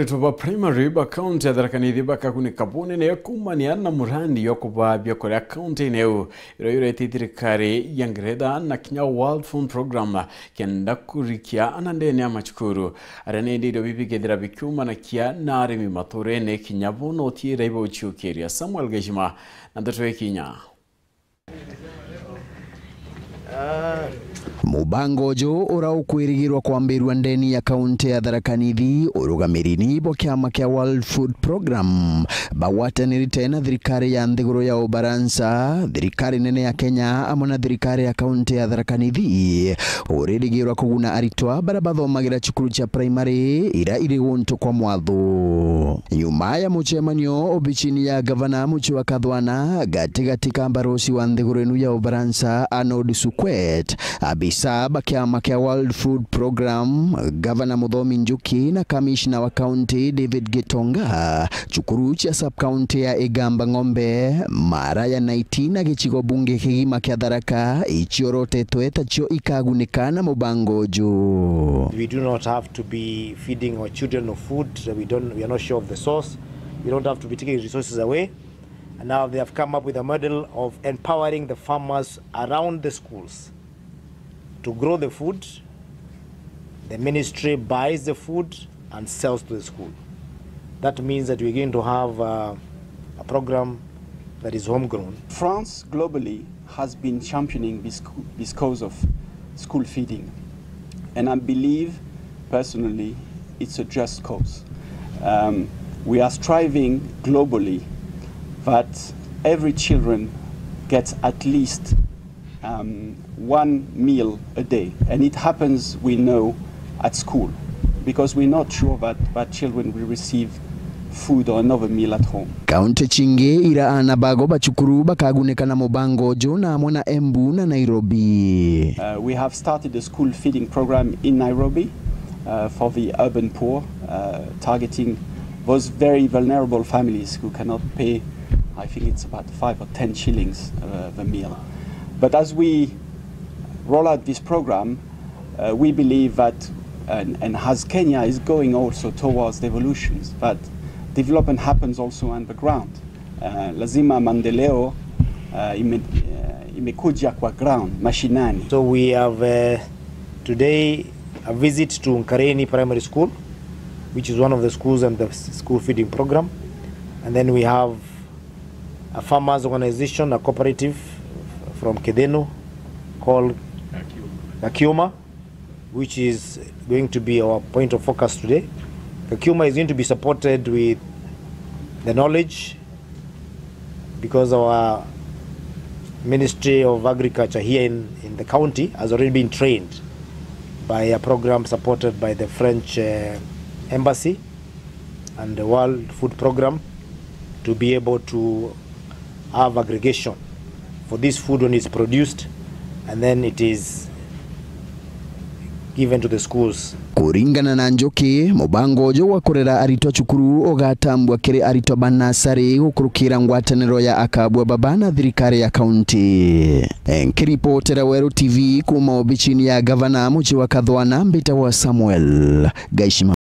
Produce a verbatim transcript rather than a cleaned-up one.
Aritwa ba primary ba kaunti ya Tharaka Nithi bakagunika bunene kuumania na murandi jwa kubaa biakuria kaunti-ini iu, iria juretite thirikari ya Ngeretha na kinya World Food Program kenda kurikia ana ndene ya macukuru. Aria ni indo iria bibigethira bikiumanakia na arimi maturene kinya bo no tiira ibauciukiria. Samuel Geshima na ndeto ikinya. Mubango uju uria ukwirigirwa kwambirua ndeni ya kaunti ya Tharaka Nithi, urugamiri ni bo kiama kia World Food Program bagwatanirite na thirikari ya nthiguru ya Ufaransa, thirikari nene ya Kenya amwe na thirikari ya kaunti ya Tharaka Nithi, uririgirwa kuguna aritwa baria bathomagira cukuru cia primary iria iri guntu kwa mwathu. Nyuma ya mucemanio obicini ya gavana Mucii wa Kathwana, gatigati ka mbarosi wa nthiguru inu ya Ufaransa, Arnaud Souquet, abisa ba kiama kia World Food Program, gavana Muthomi Njuki na kamishna wa kaunti David Gitonga, cukuru cia sub-county ya Igamba Ng'ombe, Mara ya Naiti na gicigo bunge kigima kia Tharaka, iciorotetwe tacio ikagunika na mubango uju. We do not have to be feeding our children of food that we don't, we are not sure of the source. We don't have to be taking resources away. And now they have come up with a model of empowering the farmers around the schools to grow the food. The ministry buys the food and sells to the school. That means that we're going to have, uh, a program that is homegrown. France globally has been championing this, this cause of school feeding. And I believe, personally, it's a just cause. Um, we are striving globally that every children gets at least, um, one meal a day. And it happens, we know, at school, because we're not sure that, that children will receive food or another meal at home. Kaunti cingi ira aana bago ba cukuru bakagunika na mubango uju na amwe na Embu na Nairobi. Uh, we have started a school feeding program in Nairobi, uh, for the urban poor, uh, targeting those very vulnerable families who cannot pay, I think it's about five or ten shillings, uh, the meal. But as we roll out this program, uh, we believe that, and, and as Kenya is going also towards devolutions, that development happens also on the ground. Uh, lazima maendeleo, uh, ime-, uh, imekuja kwa ground, mashinani. So we have, uh, today a visit to Nkareni Primary School, which is one of the schools and the s-, school feeding program. And then we have a farmers organization, a cooperative from Kidhinu called Gakiuma, which is going to be our point of focus today. Gakiuma is going to be supported with the knowledge, because our Ministry of Agriculture here in, in the county has already been trained by a program supported by the French, uh, Embassy and the World Food Program to be able to have aggregation for this food when it's produced and then it is given to the schools. Kuringana na Njuki, mubango uju wa kurera aritwa cukuru ugatambua kiri aritwa ba nasari gukurukira ngwataniro ya akabua baba na thirikari ya kaunti. Nkiripotera Weru T V kuma obicini ya gavana Mucii wa Kathwana, mbitagwa Samuel Gaishima.